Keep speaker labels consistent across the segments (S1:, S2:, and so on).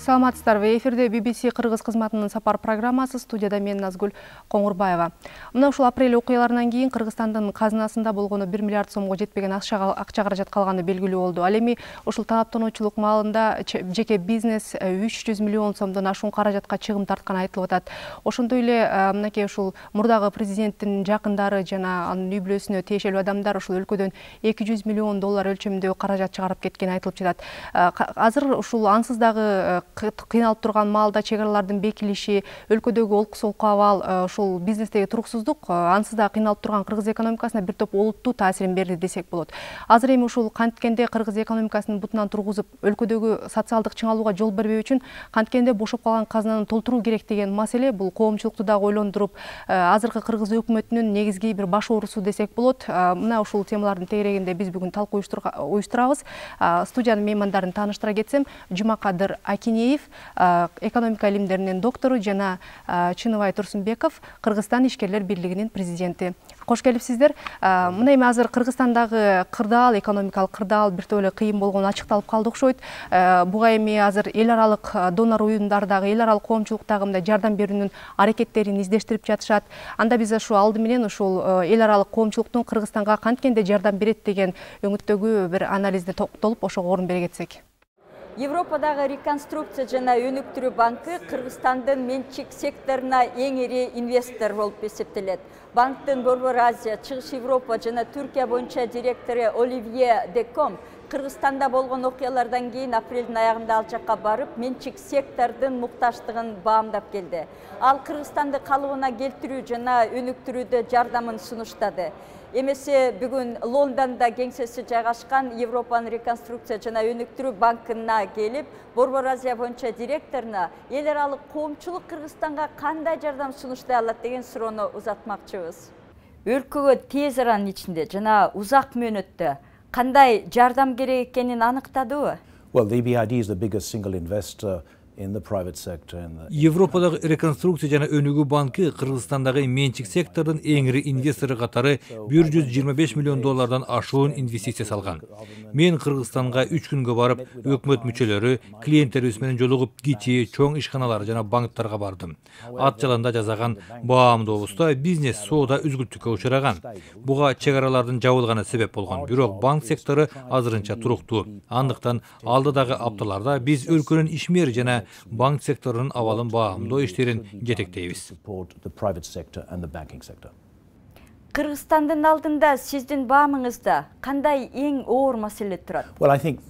S1: Саламатсыздарбы, эфирде BBC Кыргыз кызматынын сапар программасы, студияда мен Назгүл Коңурбаева. Мына ушул апрель окуяларынан кийин Кыргызстандын казынасында болгону 1 миллиард сомго жетпеген акча каражат калганы белгилүү болду. Ал эми ушул танаптануучулук маалында жеке бизнес 300 миллион сомдон ашуун каражатка чыгым тартканы айтылып атат. Ошондой эле мынакей ушул мурдагы президенттин жакындары жана анын үй-бүлөсүнө тиешелүү адамдар ушул өлкөдөн 200 миллион доллар өлчөмүндө каражат чыгарып кеткени айтылып жатат. Азыр ушул ансыз дагы кыйналып турган маалда чек аралардын бекилиши, өлкөдөгү олку-солку абал, ушул бизнестеги туруксуздук ансыз да кыйналып турган кыргыз экономикасына бир топ олуттуу таасирин берди десек болот. Азыр эми ушул канткенде кыргыз экономикасынын бутунан тургузуп, өлкөдөгү социалдык чыңалууга жол бербөө үчүн канткенде бошоп калган казынаны толтуруу керек деген маселе бул коомчулукту дагы ойлондуруп, азыркы кыргыз өкмөтүнүн негизги бир баш оорусу десек болот. Мына ушул темалардын тегерегинде биз бүгүн талкуу уюштурабыз. Студиянын меймандарын тааныштыра кетсем, Жумакадыр Акинеев, экономика илимдеринин доктору, жана Чыныбай Турсунбеков, Кыргызстан ишкерлер бирлигинин президенти. Кош келипсиздер. Мына эми азыр Кыргызстандагы кырдаал, экономикалык кырдаал бир топ эле кыйын болгону ачыкталып калды окшойт. Буга эми азыр эл аралык донор уюмдардагы, эл аралык коомчулуктагы мындай жардам берүүнүн аракеттерин издештирип жатышат. Анда биз ушул алды менен ушул эл аралык коомчулуктун Кыргызстанга канткенде жардам берет деген өңүттөгү бир анализде токтолуп, ошого орун бере кетсек.
S2: Европадагы реконструкция жана өнүктүрүү банкы Кыргызстандын менчик секторуна эң ири инвестор болуп эсептелет. Банктын Борбор Азия, Чыгыш Европа жана Түркия боюнча директору Оливье Деком Кыргызстанда болгон окуялардан кийин апрелдин аягында ал жакка барып, менчик сектордун муктаждыгын баамдап келди. Ал Кыргызстанды калыбына келтирүү жана өнүктүрүүдө жардамын сунуштады. Эмесе бүгүн Лондонда кеңсеси жайгашкан Европанын реконструкция жана өнүктүрүү банкына келип, Борбор Азия боюнча директоруна эл аралык коомчулук Кыргызстанга кандай жардам сунуштай алат деген суроону узатмакчыбыз. Өлкөгө тез аранын ичинде жана узак мөөнөттө кандай жардам керек экенин аныктадыбы?
S3: Well, the EBRD is the biggest single investor in the private sector.
S4: Европадагы реконструкция жана өнүгүү банкы Кыргызстандагы менчик сектордун эң ири инвестору катары 125 миллион доллардан ашуун инвестиция салган. Мен Кыргызстанга 3 күнгө барып, өкмөт мүчөлөрү, клиенттерибиз менен жолугуп, кичи, чоң ишканалар жана банктарга бардым. Ат жаланда жазаган баамдообузда бизнес соода үзгүлтүккө учураган. Буга чек аралардын жабылганы себеп болгон. Бирок банк сектору азырынча туруктуу. Андыктан алдыдагы апталарда биз өлкөнүн ишмери жана банк секторунун абалын баамдоо иштерин жетектейбиз.
S2: Кыргызстандын алдында сиздин баамыңызда кандай эң оор маселе турат?
S3: Well, I think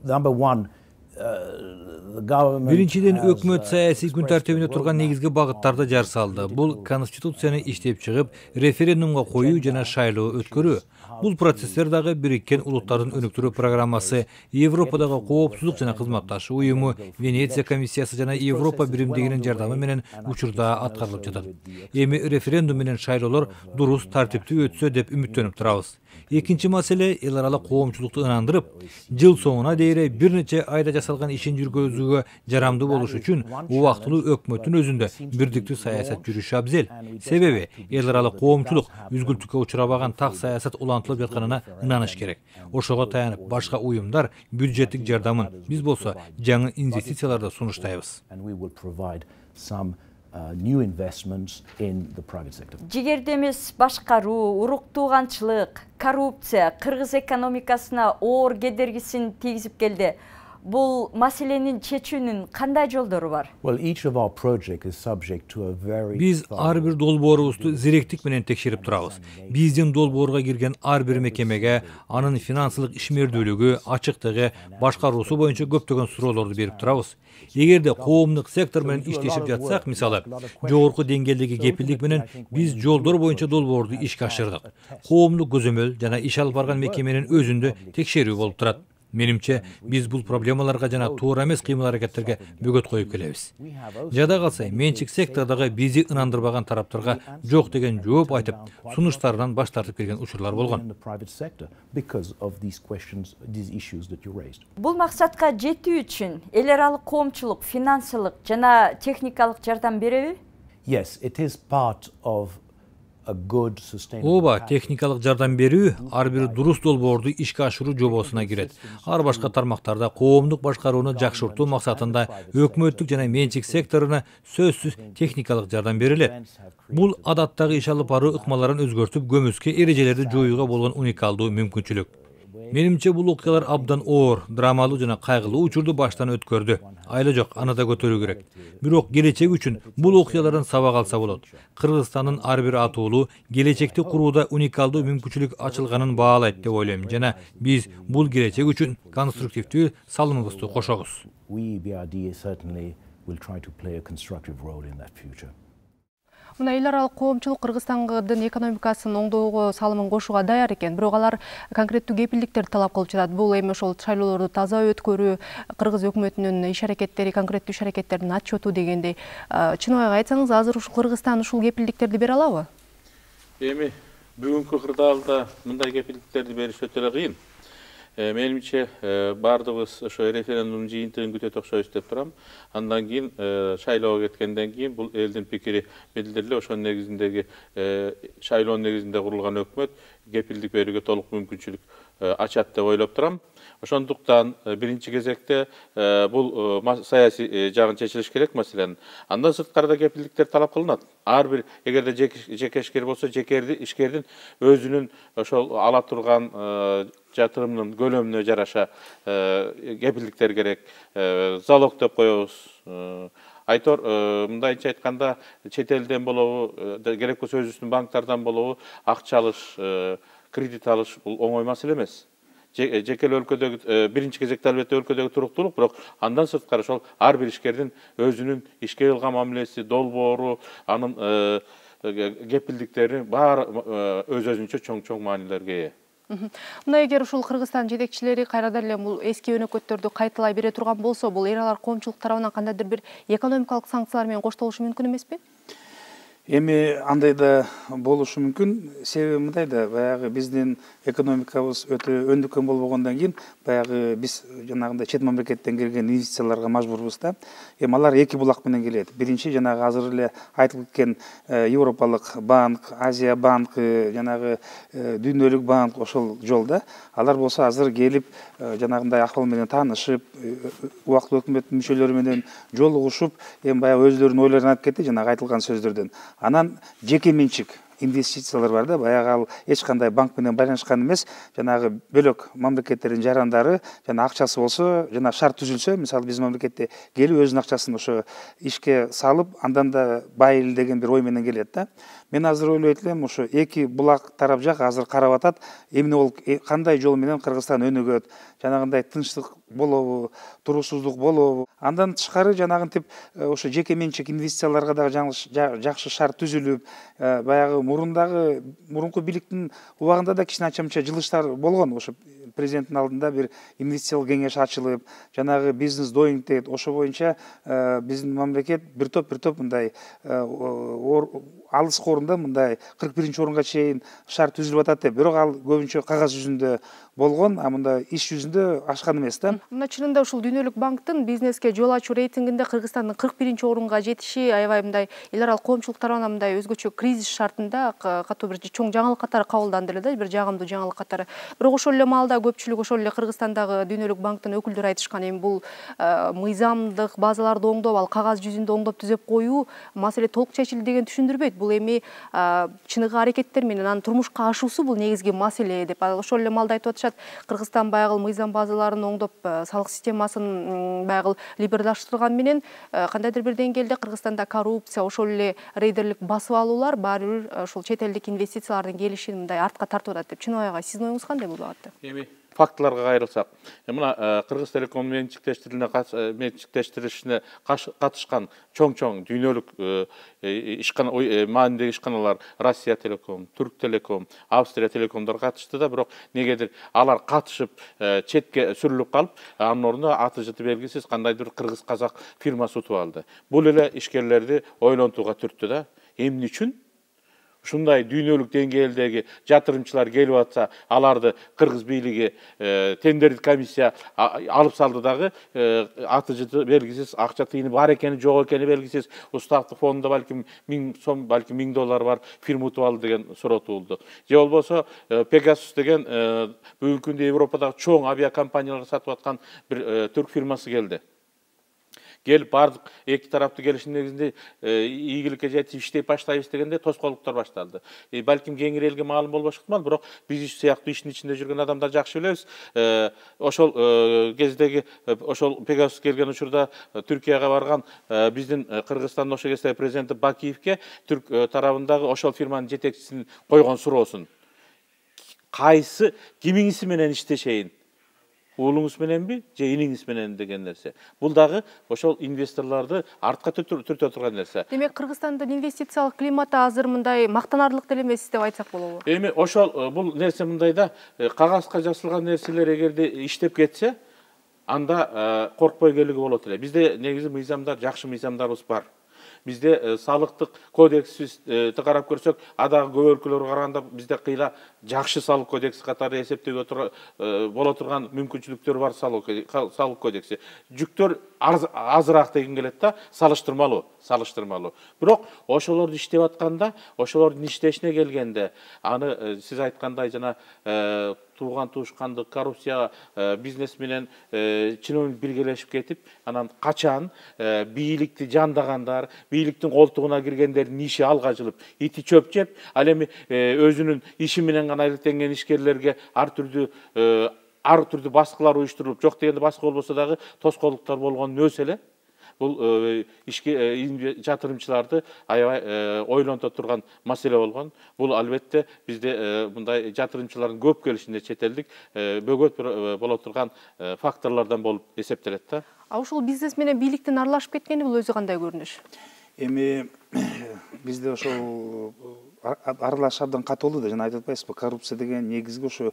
S3: number one,
S4: Биринчиден, өкмөт саясий күн тартибинде турган негизги багыттарды жар салды. Бул конституцияны иштеп чыгып, референдумга коюу жана шайлоо өткөрүү. Бул процесстер дагы Бириккен Улуттардын өнүктүрүү программасы, Европадагы коопсуздук жана кызматташуу уюму, Венеция комиссиясы жана Европа биримдигинин жардамы менен учурда аткарылып жатат. Эми референдум менен шайлоолор дурус тартиптүү өтсө деп үмүттөнүп турабыз. Экинчи маселе, эл аралык коомчулукту ынандырып, жыл соңуна дейре бир нече айда жасалган ишин жүргүзүүгө жарамдуу болуш үчүн убактылуу өкмөттүн өзүндө бирдиктүү саясат жүрүшү абзел. Себеби эл аралык коомчулук үзгүлтүккө учурабаган так саясат улантылып жатканына ынаныш керек. Ошого таянып башка уюмдар бюджеттик жардамын, биз болсо жаңы инвестицияларды сунуштайбыз.
S3: New investments in the private sector.
S2: Жигерде эмес башкаруу, уруктууганчылык, коррупция кыргыз экономикасына оор кедергисин тийгизип келди. Бул маселенин чечүүнүн кандай жолдору бар?
S3: Well, each of our projects is subject to a very
S4: Биз ар бир долбоорубузду зиректик менен текшерип турабыз. Биздин долбоорго кирген ар бир мекемеге анын финансылык ишмердүүлүгү, ачыктыгы, башкаруусу боюнча көптөгөн суроолорду берип турабыз. Эгерде коомдук сектор менен иштешип жатсак, мисалы, жогорку деңгээлдеги кепилдик менен биз жолдор боюнча долбоорду ишке ашырдык. Коомдук көзөмөл жана иш алып барган мекеменин өзүндө текшерүү болуп турат. Менимче, биз бул проблемаларга жана туура эмес кыймыл-аракеттерге бөгөт коюп келебиз. Жада калса, менчик сектордагы бизи ынандырбаган тараптарга жок деген жооп айтып, сунуштарынан баш тартып келген учурлар болгон.
S2: Бул максатка жетүү үчүн эл аралык коомчулук финансылык жана техникалык жардам береби?
S3: Yes, it is part of a good sustainable
S4: Ооба,
S3: path.
S4: техникалык жардам берүү ар бир дурус долбоорду ишке ашыруу жобосуна кирет. Ар башка тармактарда коомдук башкарууну жакшыртуу максатында өкмөттүк жана менчик секторуна сөзсүз техникалык жардам берилет. Бул адаттагы иш алып баруу ыкмаларын өзгөртүп, көмүскө эрежелерди жоюуга болгон уникалдуу мүмкүнчүлүк. Менимче бул окуялар абдан оор, драмалуу жана кайгылуу учурду баштан өткөрдү. Айла жок, аны да көтөрүү керек. Бирок келечек үчүн бул окуялардан сабак алса болот. Кыргызстандын ар бир атуулу келечекти курууда уникалдуу мүмкүнчүлүк ачылганын баалайт деп ойлойм жана биз бул келечек үчүн конструктивдүү салымыбызды кошобуз.
S3: We, BRD, certainly will try to play a constructive role in that future.
S1: Мына эл аралык коомчулук Кыргызстандын экономикасын оңдоого салымын кошууга даяр экен. Бирок алар конкреттүү кепилдиктерди талап кылып жатат. Бул эми ошол шайлоолорду таза өткөрүү, кыргыз өкмөтүнүн иш аракеттери, конкреттүү иш аракеттердин отчету дегендей. Чыныбайга айтсаңыз, азыр ушул Кыргызстан ушул кепилдиктерди бере алабы?
S5: Эми бүгүнкү кырдаалда мындай кепилдиктерди бериш өтө эле кыйын. Менимче бардыгыбыз ошо референдум жыйынтыгын күтөт окшойбуз деп турам. Андан кийин шайлоого кеткенден кийин бул элдин пикири билдирилип, ошонун негизиндеги шайлоонун негизинде курулган өкмөт кепилдик берүүгө толук мүмкүнчүлүк ачат деп ойлоп турам. Ошондуктан биринчи кезекте бул саясий жагын чечилиш керек маселенин. Андан сырткары да кепилдиктер талап кылынат. Ар бир эгерде жеке ишкер болсо, ишкердин өзүнүн ошол ала турган жатырымдын көлөмүнө жараша кепилдиктер керек. Залог деп коебуз. Айтор, мындайча айтканда, чет элден болобу, керек болсо өзүбүздүн банктардан болобу, акча алыш, кредит алыш бул оңой маселе эмес. Жеке өлкөдөгү биринчи кезекте албетте өлкөдөгү туруктуулук, бирок андан сырткары ошол ар бир ишкердин өзүнүн ишке кылган мамилеси, долбоору, анын кепилдиктери баары өз-өзүнчө чоң маанилерге ээ.
S1: Мына эгер ушул Кыргызстан жетекчилери кайрадан эле бул эски өнөкөттөрдү кайталай бере турган болсо, бул эл аралык коомчулук тарабынан кандайдыр бир экономикалык санкциялар менен коштолушу мүмкүн эмеспи?
S6: Эми андай да болушу мүмкүн. Себеби мындай да, баягы биздин экономикабыз өтө өндүккөн болбогондон кийин, баягы биз жанагындай чет мамлекеттен келген инвестицияларга мажбурбуз да. Эми алар эки булак менен келет. Биринчи жанагы азыр эле айтылып кеткен Европалык банк, Азия банкы, жанагы дүйнөлүк банк ошол жолда. Алар болсо азыр келип жанагындай акыл менен таанышып, убактылуу өкмөт мүчөлөрү менен жолугушуп, эми баягы өзлөрүнүн ойлорун айтып кетти жанагы айтылган сөздөрдөн. Анан жеке менчик инвестициялар бар да, баягы ал эч кандай банк менен байланышкан эмес, жанагы бөлөк мамлекеттердин жарандары жана акчасы болсо, жана шарт түзүлсө, мисалы биздин мамлекетте келип өзүнүн акчасын ошо ишке салып, андан да байыл деген бир ой менен келет да. Мен азыр ойлойт элем, ошо эки булак тарап жак азыр карап атат, эмне болуп, кандай жол менен Кыргызстан өнүгөт, жанагындай тынчтык болобу, туруусуздук болобу. Андан тышкары жанагынтип ошо жеке менчик инвестицияларга дагы жакшы шарт түзүлүп, баягы мурунку бийликтин убагында да кичине ача-мыча жылыштар болгон. Ошо президенттин алдында бир инвестициялык кеңеш ачылып, жанагы бизнес доинг дейт, ошо боюнча биздин мамлекет бир топ мындай алыс орунда мындай 41-орунга чейин шарт түзүлүп атат деп, бирок ал көбүнчө кагаз жүзүндө болгон, а мында иш жүзүндө ашкан эмес да.
S1: Мына чынында ушул дүйнөлүк банктын бизнеске жол ачуу рейтингинде Кыргызстандын 41-орунга жетиши аябай мындай эл аралык коомчулук тарабынан мындай өзгөчө кризис шартында катуу бир чоң жаңылык катары кабылданды эле да, бир жагымдуу жаңылык катары. Бирок ошол эле маалда көпчүлүк ошол эле Кыргызстандагы дүйнөлүк банктын өкүлдөрү айтышкан, эми бул мыйзамдык базаларды оңдоп, ал кагаз жүзүндө оңдоп түзөп коюу маселе толук чечилди деген түшүндүрбөйт. Бул эми чыныгы аракеттер менен анын турмушка ашуусу бул негизги маселе деп. Ошол эле маалда айтып атышат, Кыргызстан баягы мыйзам базаларын оңдоп, салык системасын баягы либералдаштырган менен кандайдыр бир деңгээлде Кыргызстанда коррупция, ошол эле рейдерлик басып алуулар баары бир ошол чет элдик инвестициялардын келишин мындай артка тартып атат деп. Чыныбайга сиздин оюңуз кандай бул багытта?
S5: Эми фактыларга кайрылсак, мына Кыргыз Телеком менчиктештиришине катышкан чоң дүйнөлүк маанидеги ишканалар Россия Телеком, Түрк Телеком, Австрия Телекомдор катышты да, бирок негедир алар катышып четке сүрүлүп калып, анын ордуна аты жыты белгисиз кандайдыр кыргыз-казак фирмасы утуп алды. Бул эле ишкерлерди ойлонтууга түрттү да. Эмне үчүн? ушундай дүйнөлүк деңгээлдеги жатырымчылар келип атса, аларды кыргыз бийлиги тендердик комиссия алып салды дагы, аты жыты белгисиз, акча тыйыны бар экени, жок экени белгисиз, уставдык фондунда балким 1000 сом, балким $1000 бар, фирма утуп алды деген суроо туулду. Же болбосо Pegasus деген бүгүнкү күндө Европадагы чоң авиакомпанияларга сатып аткан бир түрк фирмасы келди. Келип бардык эки тараптуу келишим негизинде ийгиликке жетип иштеп баштайбыз дегенде тоскоолдуктар башталды. Балким кеңири элге маалым болбошу ыктымал, бирок биз сыяктуу иштин ичинде жүргөн адамдар жакшы билебиз. Ошол кездеги ошол Pegasus келген учурда Түркияга барган биздин Кыргызстандын ошол кездеги президенти Бакиевке түрк тарабындагы ошол фирманын жетекчисин койгон суроосун: кайсы кимиңиз менен иштешейин? Уулуңуз мененби же иниңиз менен деген нерсе. Бул дагы ошол инвесторлорду артка түртө турган нерсе.
S1: Демек, Кыргызстандын инвестициялык климаты азыр мындай мактанарлык деле эмес деп айтсак болобу?
S5: Эми ошол бул нерсе мындайда, кагазга жазылган нерселер эгерде иштеп кетсе, анда коркпой келүүгө болот эле. Бизде негизи мыйзамдар, жакшы мыйзамдарыбыз бар. Бизде салыктык кодексти карап көрсөк, адагы көп өлкөлөргө караганда бизде кыйла жакшы салык кодекси катары эсептөөгө боло турган мүмкүнчүлүктөр бар салык кодекси. Жүктөр азыраак деген келет да, салыштырмалуу. Бирок ошолорду иштеп атканда, ошолордун иштешине келгенде, аны сиз айткандай жана тууган туушкандык, коррупция, бизнес менен чиновник биргелешип кетип, анан качан бийликти жандагандар, бийликтин колтугуна киргендердин иши алга жылып, ити чөп жеп, ал эми өзүнүн иши менен гана иликтенген ишкерлерге ар түрдүү баскылар уюштурулуп, жок дегенде баска болбосо дагы тоскоолдуктар болгону өз эле. Бул жатырымчыларды аябай ойлонто турган маселе болгон. Бул албетте бизде мындай жатырымчылардын көп келишинде чет элдик бөгөт боло турган факторлордон болуп эсептелет да.
S1: Ушул бизнес менен бийликтин аралашып кеткени бул өзү кандай көрүнүш?
S6: Эми бизде ошол аралаш абдан катуулуу да, жана айтып атпайсызбы, коррупция деген негизги ошо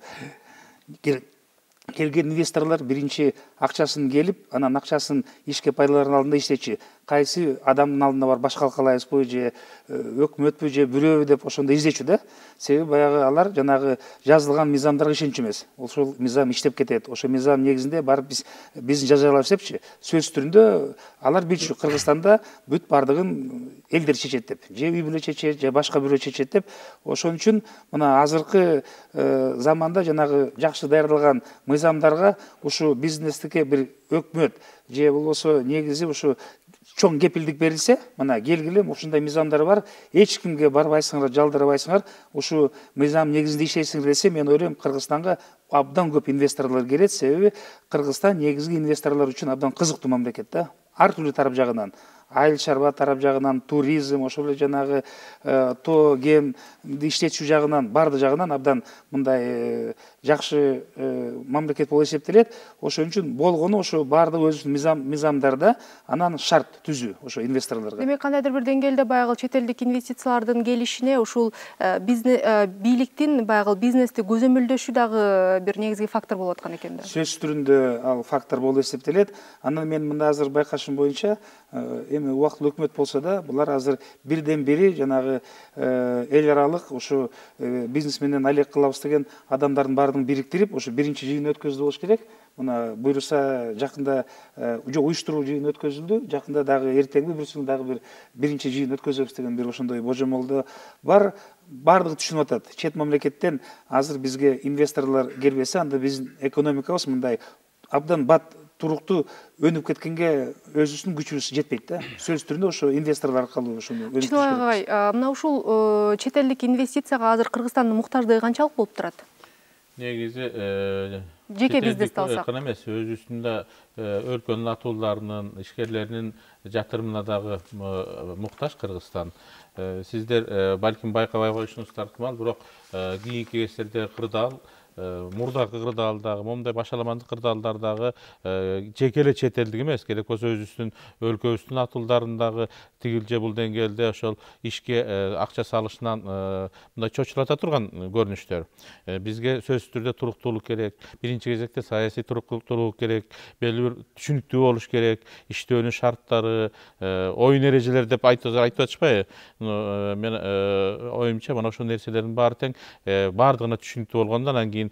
S6: келген инвесторлор биринчи акчасын келип, анан акчасын ишке пайдалануу алдында иштечи. Кайсы адамдын алдына бар баш калкалайбызбы же өкмөтпү же бирөөбү деп ошондо издечү да. Себеби баягы алар жанагы жазылган мыйзамдарга ишенчү эмес. Ошол мыйзам иштеп кетет. Ошол мыйзам негизинде барып биздин жазалап депчи. Сөз түрүндө алар билчү, Кыргызстанда бүт бардыгын элдер чечет деп. Же үй бүлө чечет, же башка бирөө чечет деп. Ошон үчүн мына азыркы заманда жанагы жакшы даярдалган мыйзамдарга ушу бизнестикке бир өкмөт же болбосо негизи ушу чоң кепилдик берилсе, мына келгиле ушундай мыйзамдар бар, эч кимге барбайсыңар, жалдырбайсыңар, ушу мыйзам негизинде иштейсиңер десе, мен ойлойм Кыргызстанга абдан көп инвесторлор келет, себеби Кыргызстан негизги инвесторлор үчүн абдан кызыктуу мамлекет да. Ар түрдүү тарап жагынан, айыл чарба тарап жагынан, туризм, ошол эле жанагы тоо кен иштетүү жагынан, барды жагынан абдан мындай жакшы мамлекет болуп эсептелет. Ошон үчүн болгону ошо бардык өзүнүн мыйзамдарда анан шарт түзүү ошо инвесторлорго.
S1: Демек, кандайдыр бир деңгээлде баягы чет элдик инвестициялардын келишине ушул бийликтин баягы бизнести көзөмөлдөшү дагы бир негизги фактор болуп аткан экен да.
S6: Сөз түрүндө ал фактор болуп эсептелет. Анан мен мында азыр байкашым боюнча, эми убактылуу өкмөт болсо да, булар азыр бирден бири жанагы эл аралык ушу бизнес менен алек кылабыз деген адамдардын баардыгын бириктирип, ушу биринчи жыйын өткөзүлүп болуш керек. Мына буюрса жакында уюштуруу жыйын өткөзүлдү. Жакында дагы эртеңби бүрсүң дагы биринчи жыйын өткөзөбүз деген бир ошондой божомолдо бар. Бардыгы түшүнүп атат. Чет мамлекеттен азыр бизге инвесторлор келбесе, анда биздин экономикабыз мындай абдан бат туруктуу өнүп кеткенге өзүбүздүн күчүбүз жетпейт да. Сөз түрүндө ошо инвесторлор аркылуу ошону өнүктүрүш керек.
S1: Мына ушул чет элдик инвестицияга азыр Кыргызстандын муктаждыгы канчалык болуп турат?
S5: Негизи
S1: жеке бизнести алсак
S5: эмес, өзүбүздүн өлкөнүн атууларынын, ишкерлеринин жатырымына дагы муктаж Кыргызстан. Сиздер балким байкабай коюшуңуздар ыктымал, бирок кийинки кездерде кырдаал мурдакы кырдаалдагы момундай башаламандык кырдаалдардагы жеке эле чет элдик эмес, керек болсо өзүбүздүн өлкөбүздүн атуулдарындагы тигил же бул деңгээлде ошол ишке акча салышынан мындай чочулата турган көрүнүштөр. Бизге сөзсүз түрдө туруктуулук керек, биринчи кезекте саясий туруктуулук керек, белгилүү бир түшүнүктүү болуш керек, иштөөнүн шарттары, оюн эрежелери деп айтып атышпайбы? Мен оюмча мына ошол нерселердин баары тең баардыгына түшүнүктүү болгондо анан кийин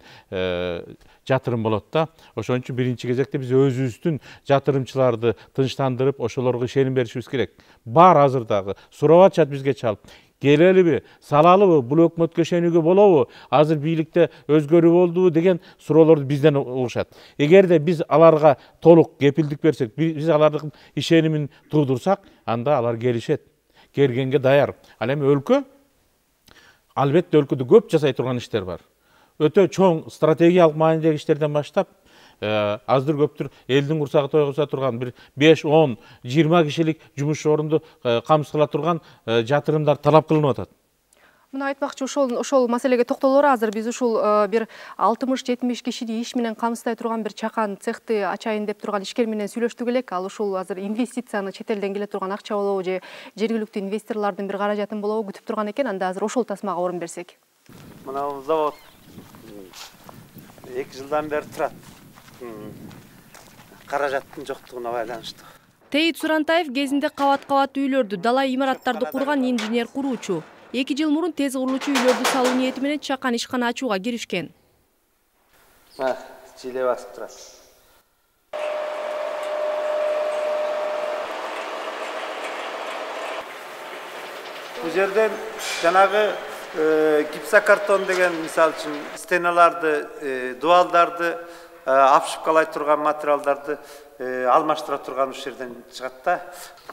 S5: жатырым болот да. Ошон үчүн биринчи кезекте биз өзүбүздүн жатырымчыларды тынчтандырып, ошолорго ишеним беришибиз керек. Бар азыр дагы сурап атышат бизге чалып. Келелиби, салалыбы, бул өкмөткө ишенүүгө болобу, азыр бийликте өзгөрүү болдубу деген суроолорду бизден угушат. Эгерде биз аларга толук кепилдик берсек, биз алардын ишенимин туудурсак, анда алар келишет. Келгенге даяр. Ал эми өлкө, албетте өлкөдө көп жасай турган иштер бар. Өтө чоң стратегиялык маанидеги иштерден баштап, аздыр көптүр элдин курсагы тойгуза турган бир 5, 10, 20 кишилик жумуш орунду камсыз кыла турган жатырымдар талап кылынып атат.
S1: Мына айтмакчы, ошол маселеге токтолор. Азыр биз ушул бир 60-70 кишини иш менен камсыздай турган бир чакан цехти ачайын деп турган ишкер менен сүйлөштүк элек. Ал ушул азыр инвестицияны, чет элден келе турган акча болобу же жергиликтүү инвесторлордун бир каражатын болобу күтүп турган экен. Анда азыр ошол тасмага орун берсек.
S7: Мына завод 2 жылдан бери турат. Каражаттын жоктугуна байланыштуу.
S1: Тейит Сурантаев кезинде кабат-кабат үйлөрдү, дала имараттарды курган инженер куруучу. 2 жыл мурун тез курулуучу үйлөрдү салуу ниети менен чакан ишкана ачууга киришкен.
S7: Жиле басып турат. Бул жерден жанагы гипсокартон деген, мисалы үчүн, стеналарды, дуалдарды, обшивкалай турган материалдарды алмаштыра турган уш жерден чыгат да.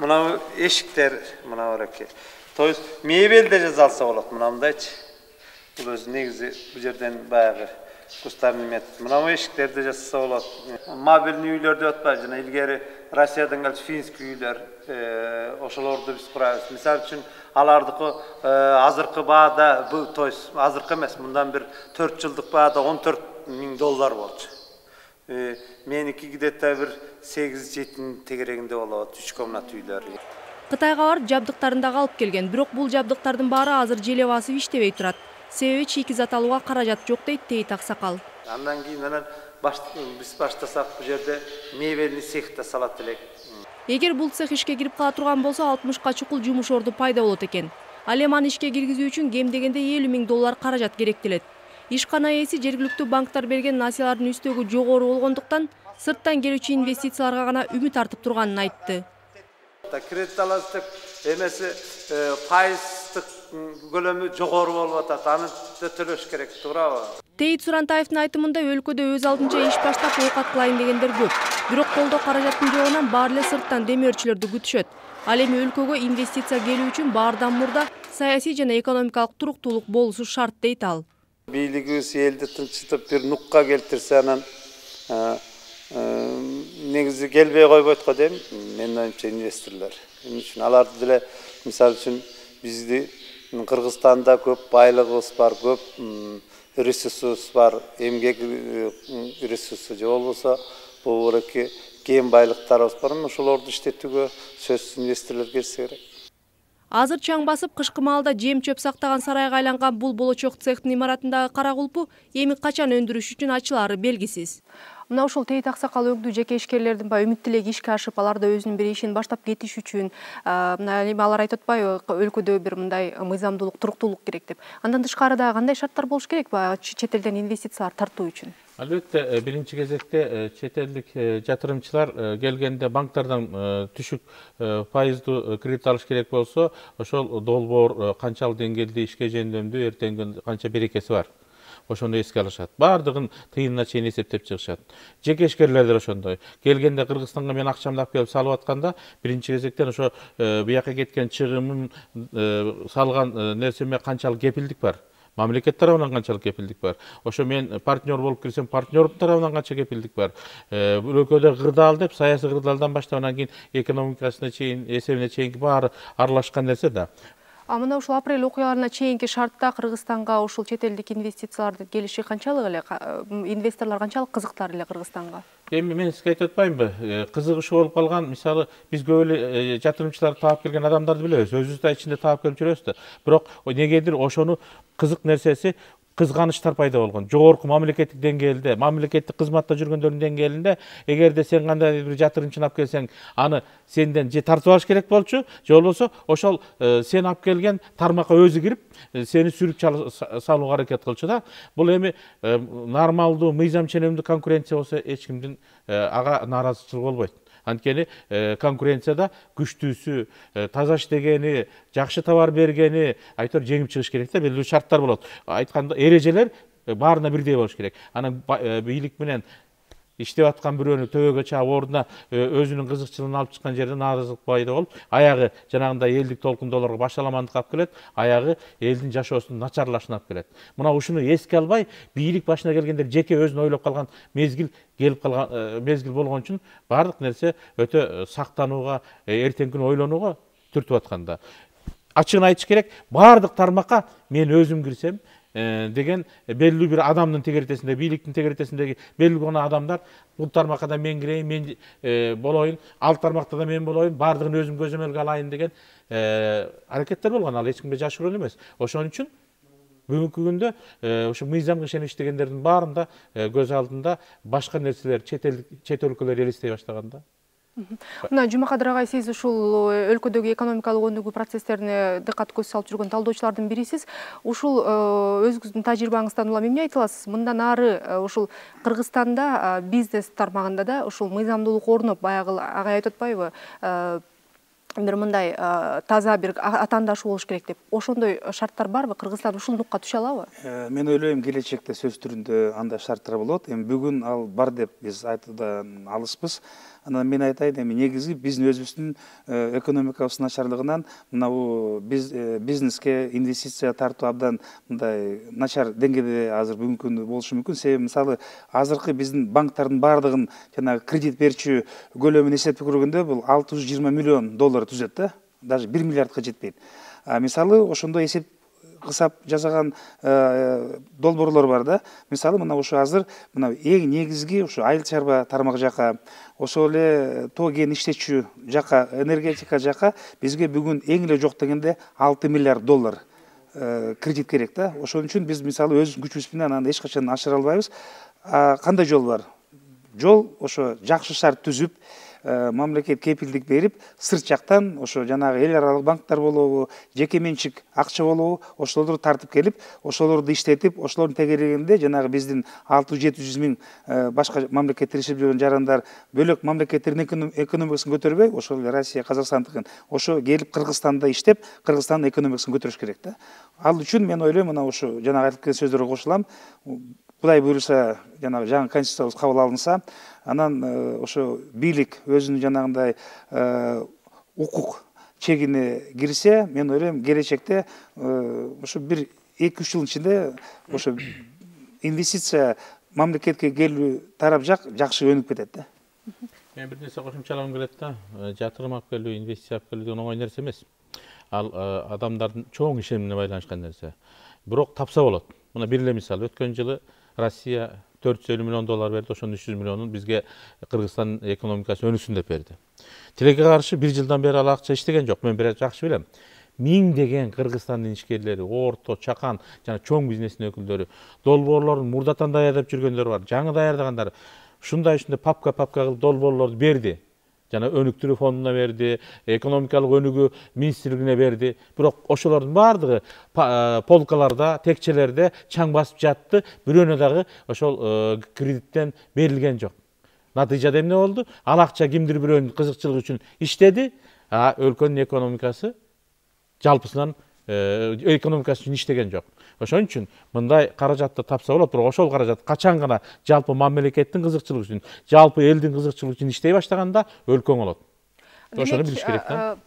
S7: Мына эшиктер, мына бараке. То есть мебель де жасалса болот, мынандайчы. Бул өзү негизи бул жерден баягы кустарный метод. Мына эшиктерди жасаса болот. Мобильный үйлөр деп атпайбы, жана илгери Россиядан келчү финский үйлөр, ошолорду биз курабыз. Мисалы үчүн алардыкы азыркы баада, то есть азыркы эмес, мындан бир 4 жылдык баада $14,000 болчу. Меники где-то бир 8-7 тегерегинде болот, 3 комнат үйлөр.
S1: Кытайга барып жабдыктарын алып келген, бирок бул жабдыктардын баары азыр желе басып иштебей турат. Себеби чийкизат алууга каражат жок дейт Тейит Аксакал.
S7: Андан кийин биз баштасак бул жерде мебельный цехти салат элек.
S1: Эгер бул цех ишке кирип кала турган болсо 60ка чукул жумуш орду пайда болот экен. Ал эми аны ишке киргизүү үчүн кем дегенде $50,000 каражат керектелет. Ишкана ээси жергиликтүү банктар берген насыялардын үстөгү жогору болгондуктан сырттан келүүчү инвестицияларга гана үмүт артып турганын айтты.
S7: Кредит аласыздар, эмеси пайыздык көлөмү жогору болуп атат, аны төлөш керек, туурабы?
S1: Тейит Сурантаевдин айтымында өлкөдө өз алдынча иш баштап оокат кылайын дегендер көп. Бирок колдоо каражаттын жогунан баары эле сырттан демөөрчүлөрдү күтүшөт. Ал эми өлкөгө инвестиция келүү үчүн баардан мурда саясий жана экономикалык туруктуулук болушу шарт дейт ал.
S7: Бийлигибиз элди тынчтып бир нукка келтирсе, анан негизи келбей койбойт го дейм, менин оюмча инвесторлор. Эмне үчүн аларды деле, мисалы үчүн, бизди Кыргызстанда көп байлыгыбыз бар, көп ресурсубуз бар, эмгек ресурсу же болбосо бул кем байлыктарыбыз бар, ошолорду иштетүүгө сөзсүз инвесторлор келсе керек.
S1: Азыр чаң басып кышкы маалда жем чөп сактаган сарайга айланган бул болочок цехтин имаратындагы кара кулпу эми качан өндүрүш үчүн ачылаары белгисиз. Мына ушул Тейит Аксакал өңдүү жеке ишкерлердин үмүт тилеги ишке ашып, аларда өзүнүн бир ишин баштап кетиш үчүн, мына эми алар айтып атпайбы, өлкөдө бир мындай мыйзамдуулук, туруктуулук керек деп. Андан тышкары да кандай шарттар болуш керек чет элден инвестициялар тартуу үчүн?
S5: Албетте, биринчи кезекте чет элдик жатырымчылар келгенде банктардан түшүк пайыздуу кредит алыш керек болсо, ошол долбоор канчалык деңгээлде ишке жөндөмдүү, эртеңки канча берекеси бар. Ошону эске алышат. Бардыгын тыйынына чейин эсептеп чыгышат. Жеке ишкерлер ошондой. Келгенде Кыргызстанга мен акчамды алып келип салып атканда, биринчи кезектен ошо бияка кеткен чыгымын салган нерсеме канчалык кепилдик бар. Мамлекет тарабынан канчалык кепилдик бар. Ошо мен партнер болуп кирсем, партнердун тарабынан канча кепилдик бар. Бул өлкөдө кырдаал деп, саясий кырдаалдан баштап анан кийин экономикасына чейин, эсебине чейинки баары аралашкан нерсе да.
S1: Мына ушул апрель окуяларына чейинки шартта Кыргызстанга ушул чет элдик инвестициялардын келиши канчалык эле, инвесторлор канчалык кызыктар эле Кыргызстанга?
S5: Эми мен сизге айтып атпаймынбы? Кызыгышы болуп калган, мисалы, биз көп эле жатырымчыларды таап келген адамдарды билебиз, өзүбүз да ичинде таап келип жүрөбүз да. Бирок негедир ошону кызык нерсеси кызганычтар пайда болгон. Жогорку мамлекеттик деңгээлде, мамлекеттик кызматта жүргөндөрдүн деңгээлинде, эгерде сен кандай бир жатырымчыны алып келсең, аны сенден же тартып алыш керек болчу, же болбосо ошол сен алып келген тармакка өзү кирип, сени сүрүп салууга аракет кылчу да. Бул эми нормалдуу, мыйзам ченемдүү конкуренция болсо эч кимдин ага нааразычылыгы болбойт. Анткени конкуренцияда күчтүүсү, таза иштегени, жакшы товар бергени айтор жеңип чыгыш керек да, белгилүү шарттар болот. Айтканда эрежелер баарына бирдей болуш керек. Анан бийлик менен иштеп аткан бирөөнү төбөгө чаап ордуна өзүнүн кызыкчылыгын алып чыккан жерде нааразылык пайда болуп, аягы жанагындай элдик толкундоолорго башаламандык алып келет, аягы элдин жашоосунун начарлашына алып келет. Мына ушуну эске албай, бийлик башына келгендер жеке өзүн ойлоп калган мезгил келип калган мезгил болгон үчүн баардык нерсе өтө сактанууга, эртеңки күнү ойлонууга түртүп атканда. Ачыгын айтыш керек, баардык тармакка мен өзүм кирсем деген белгилүү бир адамдын тегеретесинде, бийликтин тегеретесиндеги белгилүү гана адамдар бул тармакка да мен кирейин, мен болоюн, ал тармакта да мен болоюн, баардыгын өзүм көзөмөлгө алайын деген аракеттер болгон. Ал эч кимге жашыруун эмес. Ошон үчүн бүгүнкү күндө ушу мыйзамга ишеничтегендердин баарында көз алдында башка нерселер, чет өлкөлөр элестей баштаганда.
S1: Мына Жумакадыр агай, сиз ушул өлкөдөгү экономикалык өнүгүү процесстерине дыкат көз салып жүргөн талдоочулардын бирисиз. Ушул өзүңүздүн тажрыйбаңыздан улам эмне айта аласыз? Мындан ары ушул Кыргызстанда бизнес тармагында да ушул мыйзамдуулук орноп, баягы агай айтып атпайбы? Бир мындай таза бир атаандашы болуш керек деп. Ошондой шарттар барбы? Кыргызстан ушул нукка түшө алабы?
S6: Мен ойлойм, келечекте сөз түрүндө андай шарттар болот. Эми бүгүн ал бар деп биз айтуудан алыспыз. Анан мен айтайын, эми негизи биздин өзүбүздүн экономикабыздын начарлыгынан мына бул бизнеске инвестиция тартуу абдан мындай начар деңгээлде азыр бүгүнкү күндө болушу мүмкүн. Себеби мисалы азыркы биздин банктардын баардыгын жанагы кредит берүүчү көлөмүн эсептеп көргөндө бул 620 миллион доллар түзөт да, даже 1 миллиардка жетпейт. Мисалы ошондой эсеп кысап жасаган долбоорлор бар да. Мисалы мына ушу азыр мына эң негизги ушу айыл чарба тармак жака, ошол эле тоо кен иштетчү жака, энергетика жака бизге бүгүн эң эле жок дегенде 6 миллиард доллар кредит керек да. Ошон үчүн биз мисалы өз күчүбүз менен аны эч качан ашыра албайбыз. Кандай жол бар? Жол ошо жакшы шарт түзүп, мамлекет кепилдик берип, сырт жактан ошо жанагы эл аралык банктар болобу, жеке менчик акча болобу, ошолорду тартып келип, ошолорду иштетип, ошолордун тегерегинде жанагы биздин 600-700 миң башка мамлекеттер иштеп жүргөн жарандар бөлөк мамлекеттердин экономикасын көтөрбөй, ошол Россия, Казакстандыкын ошо келип Кыргызстанда иштеп, Кыргызстандын экономикасын көтөрүш керек да. Ал үчүн мен ойлойм, мына ушу жанагы айтып кеткен сөздөргө кошулам. Кудай буйруса, жанагы жаңы конституциябыз кабыл алынса, анан ошо бийлик өзүнүн жанагындай укук чегине кирсе, мен ойлойм, келечекте ошо бир 2-3 жылдын ичинде ошо инвестиция мамлекетке келүү тарап жак жакшы өнүп кетет да.
S5: Мен бир нерсе кошумчалагым келет да. Жатырым алып келүү, инвестиция алып келүү деген оңой нерсе эмес. Ал адамдардын чоң ишенимине байланышкан нерсе. Бирок тапса болот. Мына бир эле мисал, өткөн жылы Россия 450 миллион доллар берди, ошонун 300 миллионун бизге Кыргызстан экономикасы өнүксүн деп берди. Тилекке каршы бир жылдан бери ал акча иштеген жок. Мен бир жакшы билем. Миңдеген Кыргызстандын ишкерлери, орто, чакан жана чоң бизнестин өкүлдөрү, долбоорлорун мурдатан даярдап жүргөндөр бар, жаңы даярдагандар ушундай папка кылып долбоорлорду берди. Жана өнүктүрүү фондуна берди, экономикалык өнүгүү министрлигине берди. Бирок ошолордун баардыгы полкаларда, текчелерде чаң басып жатты. Бирөөнө дагы ошол кредиттен берилген жок. Натыйжада эмне болду? Ал акча кимдир бирөөнүн кызыкчылыгы үчүн иштеди, өлкөнүн экономикасы жалпысынан экономикасы үчүн иштеген жок. Ошон үчүн мындай каражатты тапса болот, бирок ошол каражат качан гана жалпы мамлекеттин кызыкчылыгы үчүн, жалпы элдин кызыкчылыгы үчүн иштей баштаганда өлкө оңолот. Ошону билиш керек да.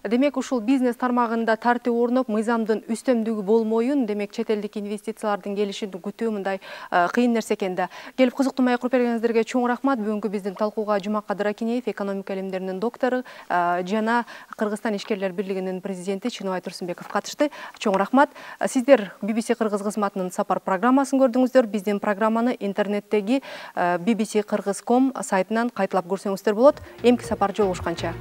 S1: Демек ушул бизнес тармагында тартип орноп, мыйзамдын үстөмдүгү болмоюн, демек чет элдик инвестициялардын келишин күтүү мындай кыйын нерсе экен да. Келип кызыктуу маек куруп бергениңиздерге чоң рахмат. Бүгүнкү биздин талкууга Жумакадыр Акинеев, экономика илимдеринин доктору жана Кыргызстан ишкерлер бирлигинин президенти Чыныбай Турсунбеков катышты. Чоң рахмат. Сиздер BBC Кыргыз кызматынын сапар программасын көрдүңүздөр. Биздин программаны интернеттеги bbc-kyrgyz.com сайтынан кайталап көрсөңүздөр болот. Эмки сапар жолугушканча.